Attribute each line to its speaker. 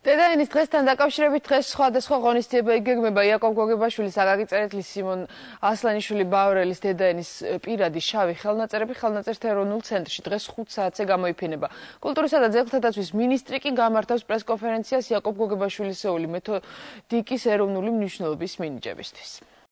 Speaker 1: დედაენის დღესთან დაკავშირებით დღეს სხვადასხვა ღონისძიება იგეგმება იაკობ გოგებაშვილის, აკაკი წერეთლის, სიმონ ასლანიშვილი ბავრელის დედაენის პირადი შავი ხელნაწერები ხელნაწერთა ეროვნულ ცენტრში დღეს 5 საათზე გამოიფინება. კულტურისა და ძეგლთა დაცვის მინისტრი კი გამართავს პრესკონფერენციას იაკობ გოგებაშვილისეული მეთოდიკის ეროვნული მნიშვნელობის მინიჭებისთვის.